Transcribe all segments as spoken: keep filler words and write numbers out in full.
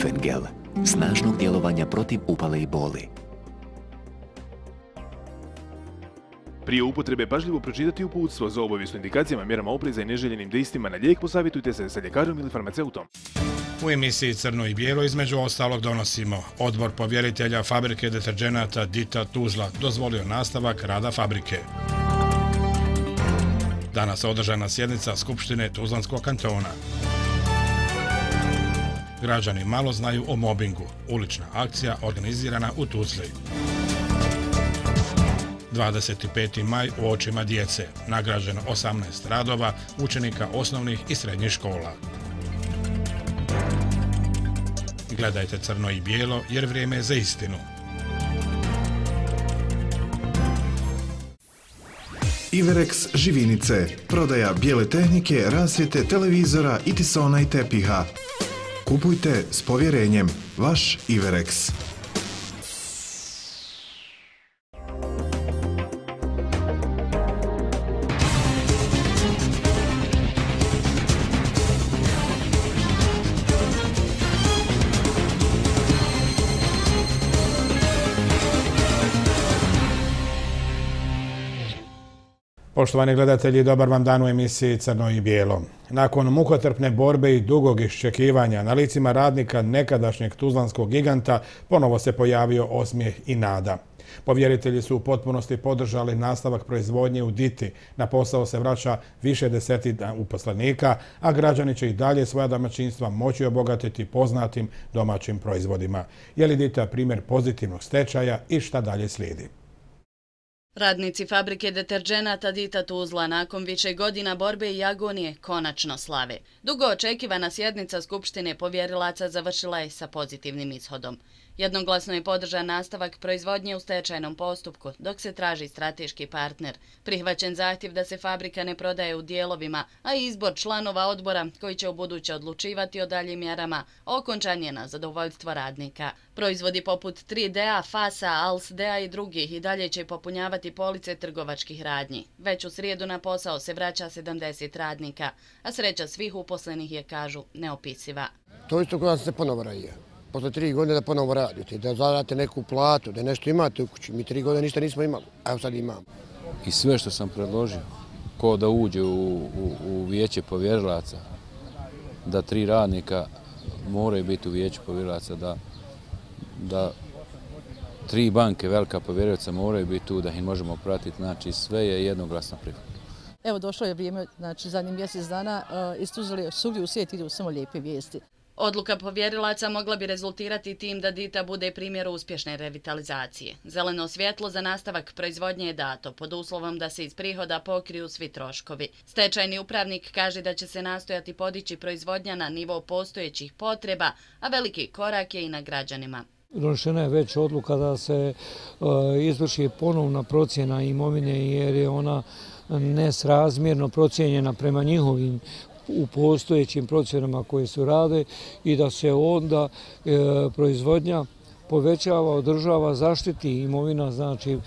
Ibuprofen gel, snažnog djelovanja protiv upale i boli. Prije upotrebe pažljivo pročitati uputstvo. Za obavijest o indikacijama, mjerama opreza i neželjenim dejstvima na lijek posavjetujte se sa ljekarom ili farmaceutom. U emisiji Crno i bijelo između ostalog donosimo: Odbor povjeritelja fabrike deterdženata Dita Tuzla dozvolio nastavak rada fabrike. Danas održana sjednica Skupštine Tuzlanskog kantona. Građani malo znaju o mobingu. Ulična akcija organizirana u Tuzli. dvadeset peti maj u očima djece. Nagrađeno osamnaest radova učenika osnovnih i srednjih škola. Gledajte Crno i bijelo jer vrijeme je za istinu. Iverex Živinice. Prodaja bijele tehnike, rasvjete, televizora, itisona i tepiha. Kupujte s povjerenjem. Vaš Iverex. Poštovani gledatelji, dobar vam dan u emisiji Crno i bijelo. Nakon mukotrpne borbe i dugog iščekivanja na licima radnika nekadašnjeg tuzlanskog giganta ponovo se pojavio osmijeh i nada. Povjeritelji su u potpunosti podržali nastavak proizvodnje u Diti. Na posao se vraća više desetina uposlenika, a građani će i dalje svoja domaćinstva moći obogatiti poznatim domaćim proizvodima. Je li Dita primjer pozitivnog stečaja i šta dalje slijedi? Radnici fabrike deterdženata Dita Tuzla nakon više godina borbe i agonije konačno slave. Dugo očekivana sjednica Skupštine povjerilaca završila je sa pozitivnim ishodom. Jednoglasno je podržan nastavak proizvodnje u stečajnom postupku, dok se traži strateški partner. Prihvaćen zahtjev da se fabrika ne prodaje u dijelovima, a izbor članova odbora koji će ubuduće odlučivati o daljim mjerama okončan je na zadovoljstvo radnika. Proizvodi poput tri D A, Fasa, Alsdea i drugih i dalje će popunjavati police trgovačkih radnji. Već u srijedu na posao se vraća sedamdeset radnika, a sreća svih uposlenih je, kažu, neopisiva. To isto kada se ponovo radije. Posle tri godine da ponovo radite, da zaradite neku platu, da nešto imate u kući. Mi tri godine ništa nismo imali, a evo sad imamo. I sve što sam predložio, ko da uđe u, u, u vijeće povjerilaca, da tri radnika moraju biti u vijeću povjerilaca, da, da tri banke velika povjerilaca moraju biti tu, da ih možemo pratiti, znači sve je jednoglasno prihvatno. Evo došlo je vrijeme, znači zadnjih mjesec dana, uh, iz Tuzle svugdje u svijet idu samo lijepe vijesti. Odluka povjerilaca mogla bi rezultirati tim da Dita bude primjer uspješne revitalizacije. Zeleno svjetlo za nastavak proizvodnje je dato, pod uslovom da se iz prihoda pokriju svi troškovi. Stečajni upravnik kaže da će se nastojati podići proizvodnja na nivo postojećih potreba, a veliki korak je i na građanima. Donošena je već odluka da se uh, izvrši ponovna procjena imovine jer je ona nesrazmjerno procijenjena prema njihovim u postojećim procjenama koje su rade i da se onda e, proizvodnja povećava, održava, zaštiti imovina, znači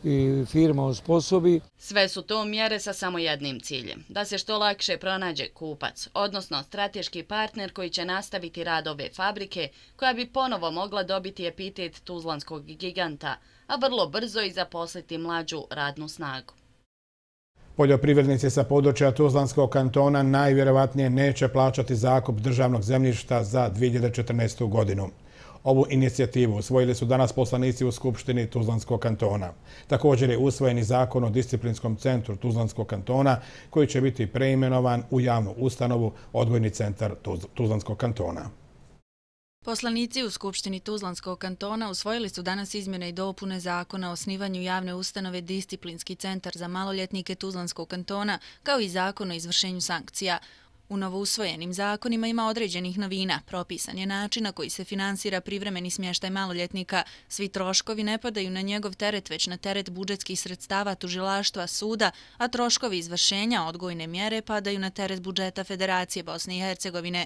i firma osposobi. Sve su to mjere sa samo jednim ciljem, da se što lakše pronađe kupac, odnosno strateški partner koji će nastaviti rad ove fabrike, koja bi ponovo mogla dobiti epitet tuzlanskog giganta, a vrlo brzo i zaposliti mlađu radnu snagu. Poljoprivrednici sa područja Tuzlanskog kantona najvjerovatnije neće plaćati zakup državnog zemljišta za dvije hiljade četrnaestu. godinu. Ovu inicijativu usvojili su danas poslanici u Skupštini Tuzlanskog kantona. Također je usvojen i zakon o disciplinskom centru Tuzlanskog kantona koji će biti preimenovan u javnu ustanovu Odgojni centar Tuzlanskog kantona. Poslanici u Skupštini Tuzlanskog kantona usvojili su danas izmjene i dopune zakona o osnivanju javne ustanove Disciplinski centar za maloljetnike Tuzlanskog kantona, kao i zakon o izvršenju sankcija. U novousvojenim zakonima ima određenih novina. Propisan je način na koji se finansira privremeni smještaj maloljetnika. Svi troškovi ne padaju na njegov teret, već na teret budžetskih sredstava tužilaštva, suda, a troškovi izvršenja odgojne mjere padaju na teret budžeta Federacije Bosne i Hercegovine.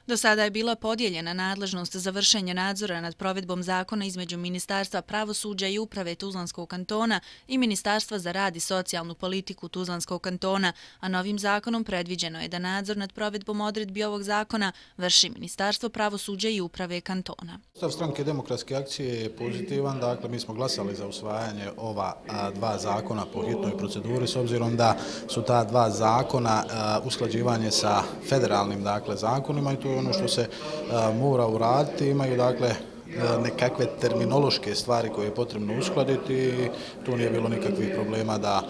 Do sada je bila podijeljena nadležnost za vršenje nadzora nad provedbom zakona između Ministarstva pravosuđa i uprave Tuzlanskog kantona i Ministarstva za rad i socijalnu politiku Tuzlanskog kantona, a novim zakonom predviđeno je da nadzor nad provedbom odredbi ovog zakona vrši Ministarstvo pravosuđa i uprave kantona. Stav Stranke demokratske akcije je pozitivan, dakle mi smo glasali za usvajanje ova a, dva zakona po hitnoj proceduri s obzirom da su ta dva zakona a, usklađivanje sa federalnim dakle zakonima i to je ono što se a, mora uraditi, imaju dakle nekakve terminološke stvari koje je potrebno uskladiti i tu nije bilo nikakvih problema da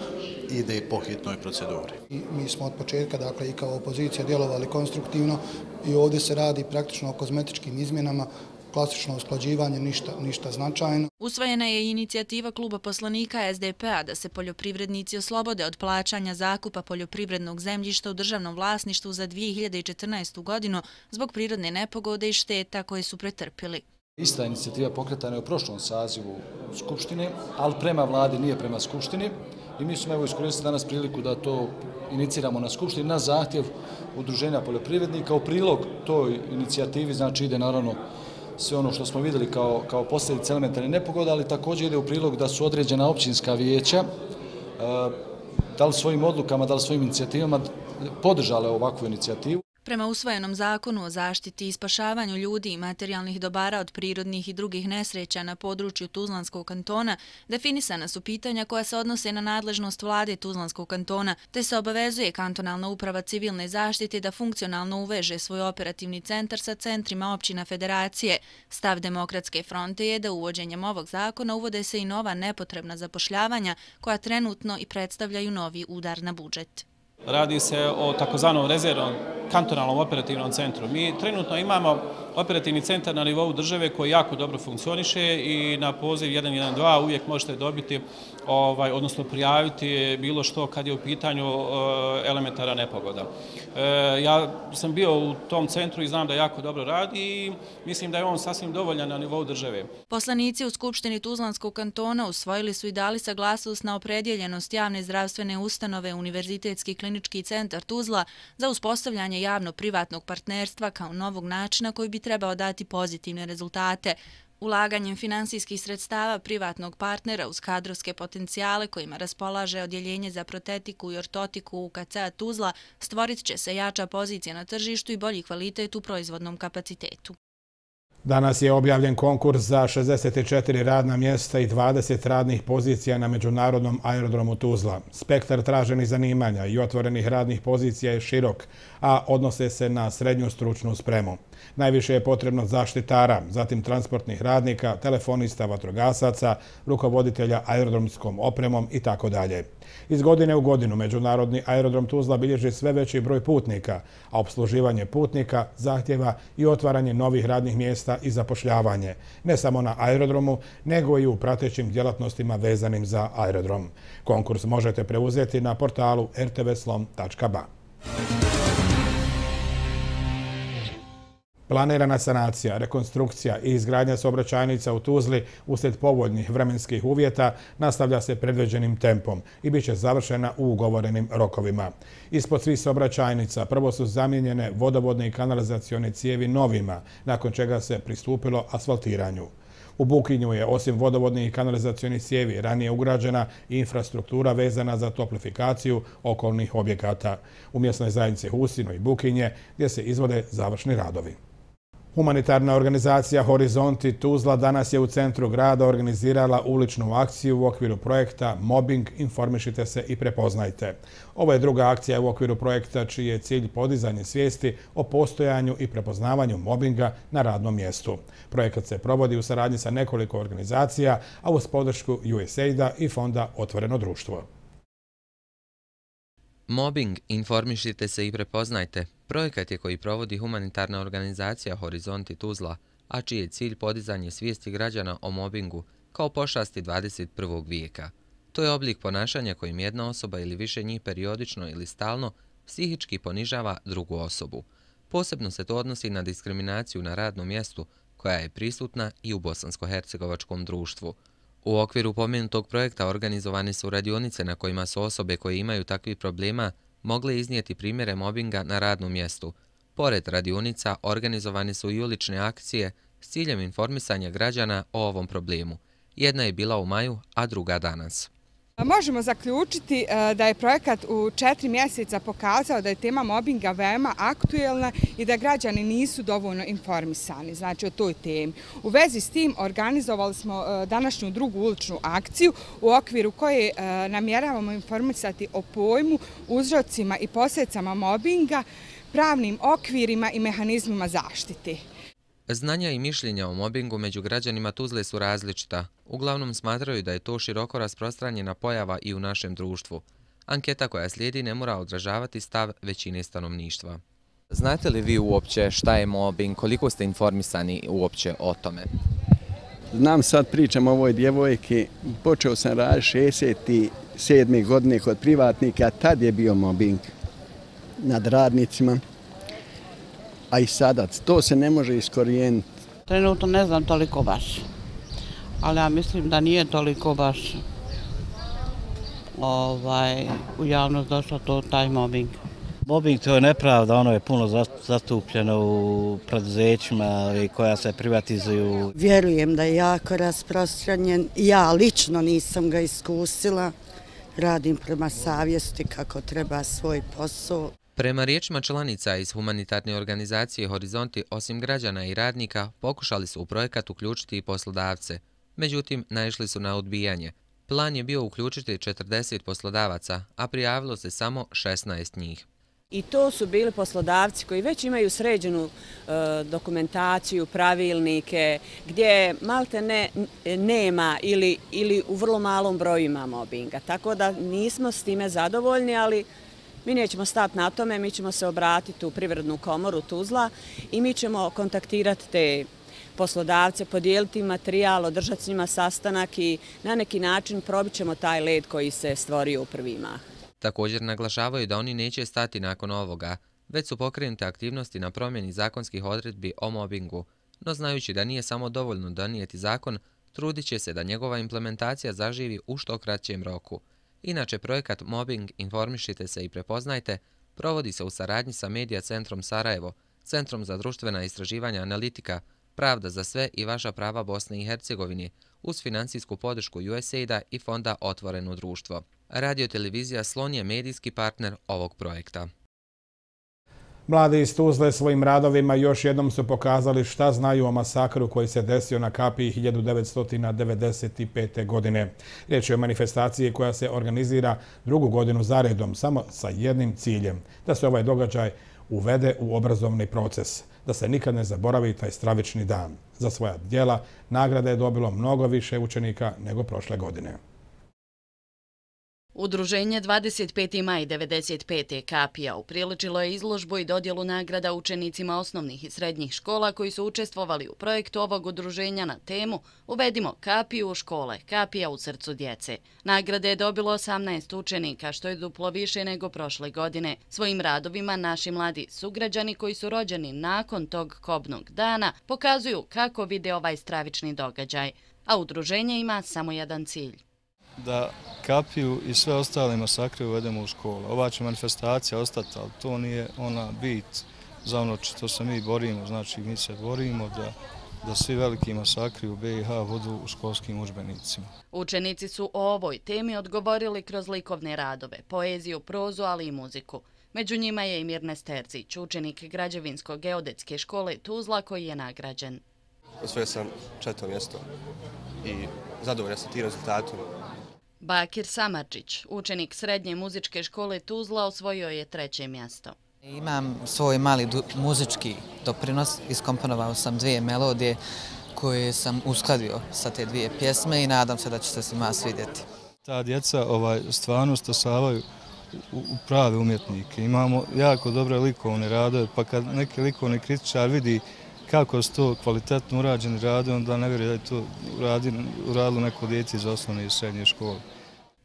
ide po hitnoj proceduri. I mi smo od početka, dakle, i kao opozicija djelovali konstruktivno i ovdje se radi praktično o kozmetičkim izmjenama, klasično usklađivanje, ništa, ništa značajno. Usvojena je i inicijativa kluba poslanika S D P A da se poljoprivrednici oslobode od plaćanja zakupa poljoprivrednog zemljišta u državnom vlasništvu za dvije hiljade četrnaestu godinu zbog prirodne nepogode i šteta koje su pretrpili. Ista inicijativa pokretana je u prošlom sazivu Skupštine, ali prema vladi, nije prema Skupštini. I mi smo evo iskoristili danas priliku da to iniciramo na Skupštini na zahtjev Udruženja poljoprivrednika. U prilog toj inicijativi znači ide naravno sve ono što smo vidjeli kao, kao posljedice elementarne nepogode, ali također ide u prilog da su određena općinska vijeća da li svojim odlukama, da li svojim inicijativama podržale ovakvu inicijativu. Prema usvojenom zakonu o zaštiti i spašavanju ljudi i materijalnih dobara od prirodnih i drugih nesreća na području Tuzlanskog kantona, definisana su pitanja koja se odnose na nadležnost vlade Tuzlanskog kantona, te se obavezuje kantonalna uprava civilne zaštite da funkcionalno uveže svoj operativni centar sa centrima općina federacije. Stav Demokratske fronte je da uvođenjem ovog zakona uvode se i nova nepotrebna zapošljavanja koja trenutno i predstavljaju novi udar na budžet. Radi se o takozvanom rezervnom kantonalnom operativnom centru. Mi trenutno imamo operativni centar na nivou države koji jako dobro funkcioniše i na poziv jedan jedan dva uvijek možete dobiti, ovaj, odnosno prijaviti bilo što kad je u pitanju elementara nepogoda. E, ja sam bio u tom centru i znam da jako dobro radi i mislim da je on sasvim dovoljan na nivou države. Poslanici u Skupštini Tuzlanskog kantona usvojili su i dali saglasnost na opredjeljenost javne zdravstvene ustanove Univerzitetski klinički centar Tuzla za uspostavljanje javno-privatnog partnerstva kao novog načina koji bi trebao dati pozitivne rezultate. Ulaganjem finansijskih sredstava privatnog partnera uz kadrovske potencijale kojima raspolaže odjeljenje za protetiku i ortotiku U K C Tuzla stvorit će se jača pozicija na tržištu i bolji kvalitet u proizvodnom kapacitetu. Danas je objavljen konkurs za šezdeset četiri radna mjesta i dvadeset radnih pozicija na Međunarodnom aerodromu Tuzla. Spektar traženih zanimanja i otvorenih radnih pozicija je širok, a odnose se na srednju stručnu spremu. Najviše je potrebno zaštitara, zatim transportnih radnika, telefonista, vatrogasaca, rukovoditelja aerodromskom opremom i tako dalje. Iz godine u godinu Međunarodni aerodrom Tuzla bilježi sve veći broj putnika, a opsluživanje putnika zahtjeva i otvaranje novih radnih mjesta i zapošljavanje, ne samo na aerodromu, nego i u pratećim djelatnostima vezanim za aerodrom. Konkurs možete preuzeti na portalu r t v slom tačka b a. Planirana sanacija, rekonstrukcija i izgradnja saobraćajnica u Tuzli uslijed povoljnih vremenskih uvjeta nastavlja se predviđenim tempom i bit će završena u ugovorenim rokovima. Ispod svih saobraćajnica prvo su zamijenjene vodovodne i kanalizacione cijevi novima, nakon čega se pristupilo asfaltiranju. U Bukinju je osim vodovodnih i kanalizacionih cijevi ranije ugrađena i infrastruktura vezana za toplifikaciju okolnih objekata. U mjesnoj zajednici Husino i Bukinje gdje se izvode završni radovi. Humanitarna organizacija Horizonti Tuzla danas je u centru grada organizirala uličnu akciju u okviru projekta Mobbing, informišite se i prepoznajte. Ovo je druga akcija u okviru projekta čiji je cilj podizanje svijesti o postojanju i prepoznavanju mobinga na radnom mjestu. Projekat se provodi u saradnji sa nekoliko organizacija, a uz podršku U S A I D-a i fonda Otvoreno društvo. Mobbing, informišite se i prepoznajte. Projekat je koji provodi humanitarna organizacija Horizonti Tuzla, a čiji je cilj podizanje svijesti građana o mobingu kao pošasti dvadeset prvog vijeka. To je oblik ponašanja kojim jedna osoba ili više njih periodično ili stalno psihički ponižava drugu osobu. Posebno se to odnosi na diskriminaciju na radnom mjestu koja je prisutna i u bosansko-hercegovačkom društvu. U okviru pomenutog projekta organizovane su radionice na kojima su osobe koje imaju takvih problema mogle iznijeti primjere mobinga na radnom mjestu, Pored radionica, organizovane su i ulične akcije s ciljem informisanja građana o ovom problemu. Jedna je bila u maju, a druga danas. Možemo zaključiti da je projekat u četiri mjeseca pokazao da je tema mobinga veoma aktuelna i da građani nisu dovoljno informisani, znači o toj temi. U vezi s tim organizovali smo današnju drugu uličnu akciju u okviru koje namjeravamo informisati o pojmu, uzrocima i posljedicama mobinga, pravnim okvirima i mehanizmima zaštite. Znanja i mišljenja o mobingu među građanima Tuzle su različita. Uglavnom smatraju da je to široko rasprostranjena pojava i u našem društvu. Anketa koja slijedi ne mora odražavati stav većine stanovništva. Znate li vi uopće šta je mobing, koliko ste informisani uopće o tome? Znam, sad pričam o ovoj djevojki, počeo sam raditi šezdeset sedme godine kod privatnika, tad je bio mobing nad radnicima. A i sada, to se ne može iskorijeniti. Trenutno ne znam toliko baš, ali ja mislim da nije toliko baš ovaj, u javnost došlo to taj mobbing. Mobbing to je nepravda, ono je puno zastupljeno u preduzećima koja se privatizuju. Vjerujem da je jako rasprostranjen. Ja lično nisam ga iskusila, radim prema savjesti kako treba svoj posao. Prema riječima članica iz humanitarne organizacije Horizonti, osim građana i radnika, pokušali su u projekat uključiti i poslodavce. Međutim, naišli su na odbijanje. Plan je bio uključiti četrdeset poslodavaca, a prijavilo se samo šesnaest njih. I to su bili poslodavci koji već imaju sređenu e, dokumentaciju, pravilnike, gdje malte ne, nema ili, ili u vrlo malom broju ima mobinga. Tako da nismo s time zadovoljni, ali mi nećemo stati na tome, mi ćemo se obratiti u Privrednu komoru Tuzla i mi ćemo kontaktirati te poslodavce, podijeliti materijal, održati s njima sastanak i na neki način probit ćemo taj led koji se stvorio u prvi mah. Također naglašavaju da oni neće stati nakon ovoga, već su pokrenute aktivnosti na promjeni zakonskih odredbi o mobingu, no znajući da nije samo dovoljno donijeti zakon, trudit će se da njegova implementacija zaživi u što kraćem roku. Inače, projekat Mobbing informišite se i prepoznajte provodi se u saradnji sa Medija centrom Sarajevo, Centrom za društvena istraživanja analitika, Pravda za sve i vaša prava Bosne i Hercegovine, uz financijsku podršku U S A I D-a i fonda Otvoreno društvo. Radio-televizija Slon je medijski partner ovog projekta. Mladi iz Tuzle svojim radovima još jednom su pokazali šta znaju o masakru koji se desio na Kapiji hiljadu devetsto devedeset pete. godine. Riječ je o manifestaciji koja se organizira drugu godinu zaredom, samo sa jednim ciljem, da se ovaj događaj uvede u obrazovni proces, da se nikad ne zaboravi taj stravični dan. Za svoja djela nagrade je dobilo mnogo više učenika nego prošle godine. Udruženje dvadeset peti maj devedeset pete. Kapija upriličilo je izložbu i dodjelu nagrada učenicima osnovnih i srednjih škola koji su učestvovali u projektu ovog udruženja na temu Uvedimo Kapiju u škole, Kapija u srcu djece. Nagrade je dobilo osamnaest učenika, što je duplo više nego prošle godine. Svojim radovima naši mladi sugrađani koji su rođeni nakon tog kobnog dana pokazuju kako vide ovaj stravični događaj, a udruženje ima samo jedan cilj. Da Kapiju i sve ostale masakre uvedemo u školu. Ova će manifestacija ostati, ali to nije ona bit za ono što se mi borimo. Znači, mi se borimo da, da svi veliki masakri u B i H budu u školskim udžbenicima. Učenici su o ovoj temi odgovorili kroz likovne radove, poeziju, prozu, ali i muziku. Među njima je i Mirnes Terzić, učenik Građevinsko-geodetske škole Tuzla koji je nagrađen. Osvojio sam četvrto mjesto i zadovoljan sam tim rezultatom. Bakir Samarčić, učenik srednje muzičke škole Tuzla, osvojio je treće mjesto. Imam svoj mali muzički doprinos, iskomponovao sam dvije melodije koje sam uskladio sa te dvije pjesme i nadam se da će se svima svidjeti. Ta djeca ovaj, stvarno stasavaju u, u prave umjetnike. Imamo jako dobre likovne radove, pa kad neki likovni kritičar vidi kako su to kvalitetno urađeni rade, onda ne vjeruje da je to uradilo neko dijete iz osnovne i srednje škole.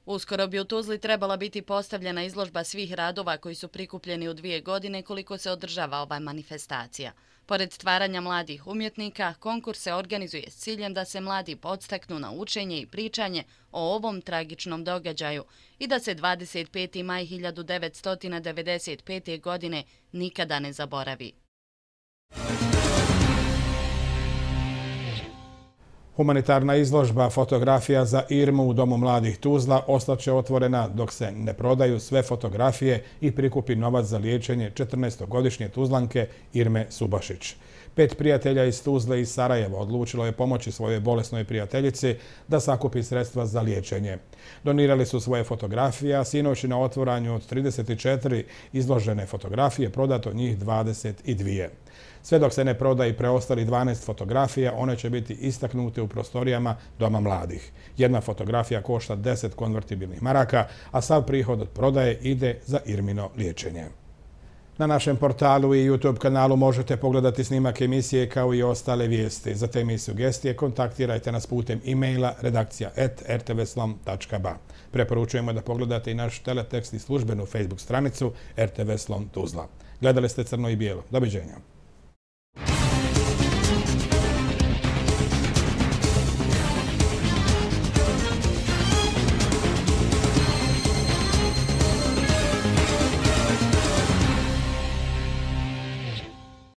Uskoro bi u Tuzli trebala biti postavljena izložba svih radova koji su prikupljeni u dvije godine koliko se održava ova manifestacija. Pored stvaranja mladih umjetnika, konkurs se organizuje s ciljem da se mladi podstaknu na učenje i pričanje o ovom tragičnom događaju i da se dvadeset peti maj hiljadu devetsto devedeset pete. godine nikada ne zaboravi. Humanitarna izložba fotografija za Irmu u Domu mladih Tuzla ostaće otvorena dok se ne prodaju sve fotografije i prikupi novac za liječenje četrnaestogodišnje Tuzlanke Irme Subašić. Pet prijatelja iz Tuzle i Sarajeva odlučilo je pomoći svojoj bolesnoj prijateljici da sakupi sredstva za liječenje. Donirali su svoje fotografije, a sinoć na otvoranju od trideset četiri izložene fotografije prodato njih dvadeset dvije. Sve dok se ne proda i preostali dvanaest fotografija, one će biti istaknute u prostorijama Doma mladih. Jedna fotografija košta deset konvertibilnih maraka, a sav prihod od prodaje ide za Irmino liječenje. Na našem portalu i YouTube kanalu možete pogledati snimak emisije kao i ostale vijesti. Za teme i sugestije kontaktirajte nas putem e-maila redakcija at r t v slom tačka b a. Preporučujemo da pogledate i naš teletekst i službenu Facebook stranicu R T V Slom Tuzla. Gledali ste Crno i bijelo. Doviđenja.